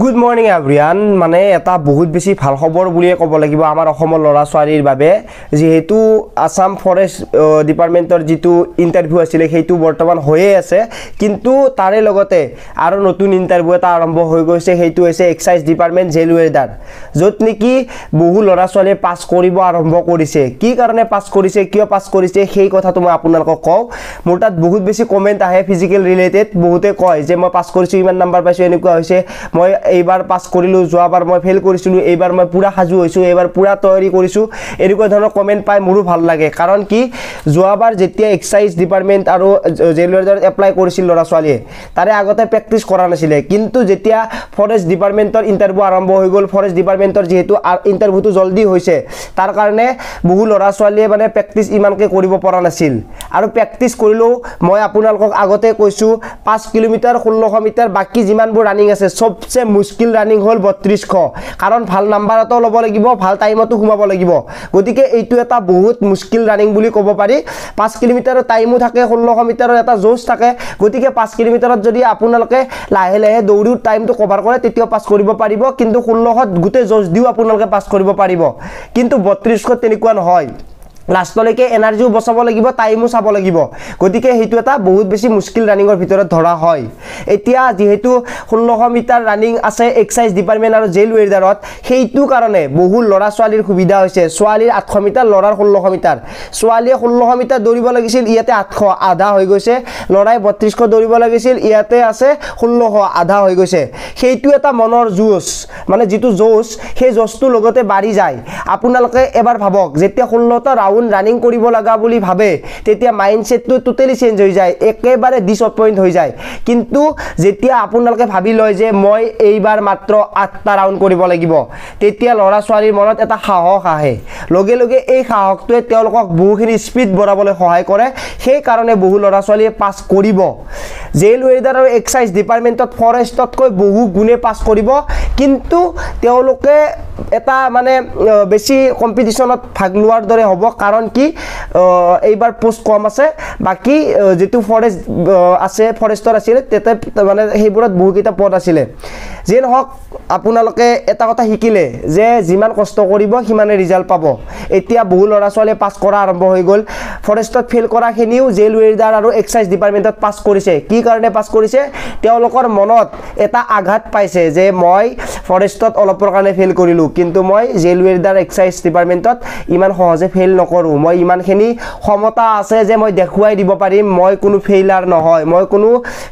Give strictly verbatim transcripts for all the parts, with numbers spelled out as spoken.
Good morning everyone. মানে এটা বহুত বেছি ভাল খবৰ বুলিয়ে ক'ব লাগিব আমাৰ অসমৰ ল'ৰা ছোৱালীৰ বাবে। যিহেতু আছাম ফৰেষ্ট ডিপাৰ্টমেণ্টৰ যিটো ইণ্টাৰভিউ আছিলে, সেইটো বৰ্তমান হৈয়ে আছে, কিন্তু তাৰে লগতে আৰু নতুন ইণ্টাৰভিউ এটা আৰম্ভ হৈ গৈছে। সেইটো হৈছে এক্সাইজ ডিপাৰ্টমেণ্ট জেল ৱেৰ্ডাৰ, য'ত নেকি বহু ল'ৰা ছোৱালীয়ে পাছ কৰিব আৰম্ভ কৰিছে। কি কাৰণে পাছ কৰিছে, কিয় পাছ কৰিছে, সেই কথাটো মই আপোনালোকক কওঁ। মোৰ তাত বহুত বেছি কমেণ্ট আহে ফিজিকেল ৰিলেটেড। বহুতে কয় যে মই পাছ কৰিছোঁ, ইমান নাম্বাৰ পাইছোঁ, এনেকুৱা হৈছে, মই এইবাৰ পাছ কৰিলোঁ, যোৱাবাৰ মই ফেইল কৰিছিলোঁ, এইবাৰ মই পূৰা সাজু হৈছোঁ, এইবাৰ পূৰা তৈয়াৰী কৰিছোঁ। এনেকুৱা ধৰণৰ কমেণ্ট পাই মোৰো ভাল লাগে। কাৰণ কি, যোৱাবাৰ যেতিয়া এক্সাইজ ডিপাৰ্টমেণ্ট আৰু জেল ৱেৰ্ডাৰত এপ্লাই কৰিছিল ল'ৰা ছোৱালীয়ে, তাৰে আগতে প্ৰেক্টিছ কৰা নাছিলে। কিন্তু যেতিয়া ফৰেষ্ট ডিপাৰ্টমেণ্টৰ ইণ্টাৰভিউ আৰম্ভ হৈ গ'ল, ফৰেষ্ট ডিপাৰ্টমেণ্টৰ যিহেতু ইণ্টাৰভিউটো জল্দি হৈছে, তাৰ কাৰণে বহু ল'ৰা ছোৱালীয়ে মানে প্ৰেক্টিছ ইমানকৈ কৰিব পৰা নাছিল। আৰু প্ৰেক্টিছ কৰিলেও, মই আপোনালোকক আগতে কৈছোঁ, পাঁচ কিলোমিটাৰ, ষোল্লশ মিটাৰ, বাকী যিমানবোৰ ৰানিং আছে, চবচে মুস্কিল ৰানিং হ'ল বত্ৰিছশ। কাৰণ ভাল নাম্বাৰতো ল'ব লাগিব, ভাল টাইমতো সোমাব লাগিব। গতিকে এইটো এটা বহুত মুস্কিল ৰানিং বুলি ক'ব পাৰি। পাঁচ কিলোমিটাৰৰ টাইমো থাকে, ষোল্লশ মিটাৰৰ এটা জোচ থাকে। গতিকে পাঁচ কিলোমিটাৰত যদি আপোনালোকে লাহে লাহে দৌৰিও টাইমটো কভাৰ কৰে, তেতিয়াও পাছ কৰিব পাৰিব। কিন্তু ষোল্লশত গোটেই জোচ দিও আপোনালোকে পাছ কৰিব পাৰিব। কিন্তু বত্ৰিছশত তেনেকুৱা নহয়, লাষ্টলৈকে এনাৰ্জিও বচাব লাগিব, টাইমো চাব লাগিব। গতিকে সেইটো এটা বহুত বেছি মুস্কিল ৰানিঙৰ ভিতৰত ধৰা হয়। এতিয়া যিহেতু ষোল্লশ মিটাৰ ৰানিং আছে এক্সাইজ ডিপাৰ্টমেণ্ট আৰু জেল ৱেৰ্ডাৰত, সেইটো কাৰণে বহু ল'ৰা ছোৱালীৰ সুবিধা হৈছে। ছোৱালীৰ আঠশ মিটাৰ, ল'ৰাৰ ষোল্লশ মিটাৰ। ছোৱালীয়ে ষোল্লশ মিটাৰ দৌৰিব লাগিছিল, ইয়াতে আঠশ, আধা হৈ গৈছে। ল'ৰাই বত্ৰিছশ দৌৰিব লাগিছিল, ইয়াতে আছে ষোল্লশ, আধা হৈ গৈছে। সেইটো এটা মনৰ যুঁজ, মানে যিটো যুঁজ, সেই যুঁজটোৰ লগতে বাঢ়ি যায়। আপোনালোকে এবাৰ ভাবক, যেতিয়া ষোল্লটা ৰাউণ্ড ৰানিং কৰিব লগা বুলি ভাবে, তেতিয়া মাইণ্ডছেটটো টোটেলি চেঞ্জ হৈ যায়, একেবাৰে ডিছএপইণ্ট হৈ যায়। কিন্তু যেতিয়া আপোনালোকে ভাবি লয় যে মই এইবাৰ মাত্ৰ আঠটা ৰাউণ্ড কৰিব লাগিব, তেতিয়া ল'ৰা ছোৱালীৰ মনত এটা সাহস আহে। লগে লগে এই সাহসটোৱে তেওঁলোকক বহুখিনি স্পীড বঢ়াবলৈ সহায় কৰে। সেইকাৰণে বহু ল'ৰা ছোৱালীয়ে পাছ কৰিব। জেল ৱেৰ্ডাৰ আৰু এক্সাইজ ডিপাৰ্টমেণ্টত ফৰেষ্টতকৈ বহু গুণে পাছ কৰিব। কিন্তু তেওঁলোকে এটা মানে বেছি কম্পিটিশ্যনত ভাগ লোৱাৰ দৰে হ'ব। কাৰণ কি, এইবাৰ পোষ্ট কম আছে। বাকী যিটো ফৰেষ্ট আছে, ফৰেষ্টৰ আছিলে, তাতে মানে সেইবোৰত বহুকেইটা পদ আছিলে। যিয়ে নহওক, আপোনালোকে এটা কথা শিকিলে যে যিমান কষ্ট কৰিব সিমানে ৰিজাল্ট পাব। এতিয়া বহু ল'ৰা ছোৱালীয়ে পাছ কৰা আৰম্ভ হৈ গ'ল। ফৰেষ্টত ফেইল কৰাখিনিও জেল ৱেৰ্ডাৰ আৰু এক্সাইজ ডিপাৰ্টমেণ্টত পাছ কৰিছে। কি কাৰণে পাছ কৰিছে? তেওঁলোকৰ মনত এটা আঘাত পাইছে যে মই ফৰেষ্টত অলপৰ কাৰণে ফেইল কৰিলোঁ, কিন্তু মই জেল ৱেৰ্ডাৰ, এক্সাইজ ডিপাৰ্টমেণ্টত ইমান সহজে ফেইল নকৰোঁ। মই ইমানখিনি ক্ষমতা আছে যে মই দেখুৱাই দিব পাৰিম, মই কোনো ফেইলাৰ নহয়, মই কোনো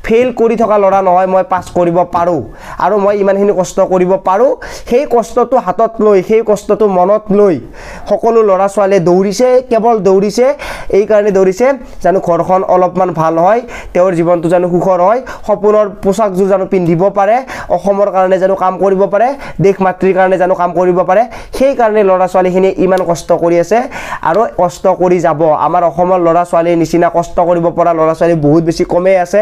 ফেইল কৰি থকা ল'ৰা নহয়, মই পাছ কৰিব পাৰোঁ আৰু মই ইমানখিনি কষ্ট কৰিব পাৰোঁ। সেই কষ্টটো হাতত লৈ, সেই কষ্টটো মনত লৈ সকলো ল'ৰা ছোৱালীয়ে দৌৰিছে। কেৱল দৌৰিছে, এইকাৰণে দৌৰিছে জানো ঘৰখন অলপমান ভাল হয়, তেওঁৰ জীৱনটো জানো সুখৰ হয়, সপোনৰ পোচাকযোৰ জানো পিন্ধিব পাৰে, অসমৰ কাৰণে জানো কাম কৰিব পাৰে, দেশ মাতৃৰ কাৰণে জানো কাম কৰিব পাৰে। সেইকাৰণে ল'ৰা ছোৱালীখিনিয়ে ইমান কষ্ট কৰি আছে আৰু কষ্ট কৰি যাব। আমাৰ অসমৰ ল'ৰা ছোৱালীৰ নিচিনা কষ্ট কৰিব পৰা ল'ৰা ছোৱালী বহুত বেছি কমেই আছে।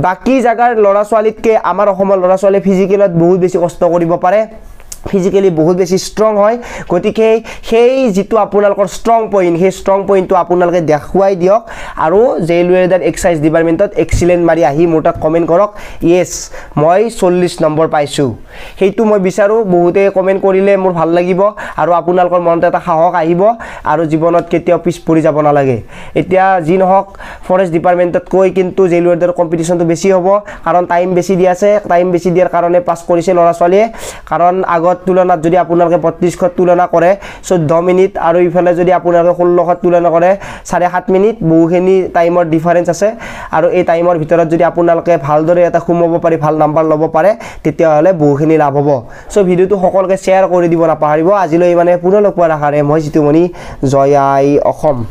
বাকী জেগাৰ ল'ৰা ছোৱালীতকৈ আমাৰ অসমৰ ল'ৰা ছোৱালীয়ে ফিজিকেলত বহুত বেছি কষ্ট কৰিব পাৰে, ফিজিকেলি বহুত বেছি ষ্ট্ৰং হয়। গতিকে সেই যিটো আপোনালোকৰ ষ্ট্ৰং পইণ্ট, সেই ষ্ট্ৰং পইণ্টটো আপোনালোকে দেখুৱাই দিয়ক আৰু জেইল ৱেৰ্ডাৰ, এক্সাইজ ডিপাৰ্টমেণ্টত এক্সিলেণ্ট মাৰি আহি মোৰ তাত কমেণ্ট কৰক, য়েছ, মই চল্লিছ নম্বৰ পাইছোঁ। সেইটো মই বিচাৰোঁ। বহুতে কমেণ্ট কৰিলে মোৰ ভাল লাগিব আৰু আপোনালোকৰ মনত এটা সাহস আহিব আৰু জীৱনত কেতিয়াও পিছ পৰি যাব নালাগে। এতিয়া যি নহওক, ফৰেষ্ট ডিপাৰ্টমেণ্টতকৈ কিন্তু জেইল ৱেৰ্ডাৰ কম্পিটিশ্যনটো বেছি হ'ব, কাৰণ টাইম বেছি দিয়া আছে। টাইম বেছি দিয়াৰ কাৰণে পাছ কৰিছে ল'ৰা ছোৱালীয়ে। কাৰণ আগত তুলনাত যদি আপোনালোকে বত্ৰিছশত তুলনা কৰে চৈধ্য মিনিট আৰু ইফালে যদি আপোনালোকে ষোল্লশত তুলনা কৰে চাৰে সাত মিনিট, বহুখিনি টাইমৰ ডিফাৰেঞ্চ আছে। আৰু এই টাইমৰ ভিতৰত যদি আপোনালোকে ভালদৰে এটা সোমাব পাৰি, ভাল নাম্বাৰ ল'ব পাৰে, তেতিয়াহ'লে বহুখিনি লাভ হ'ব। চ' ভিডিঅ'টো সকলোকে শ্বেয়াৰ কৰি দিব নাপাহৰিব। আজিলৈ মানে পুনৰ লগ পোৱাৰ আশাৰে মই জিতুমণি, জয় আই অসম।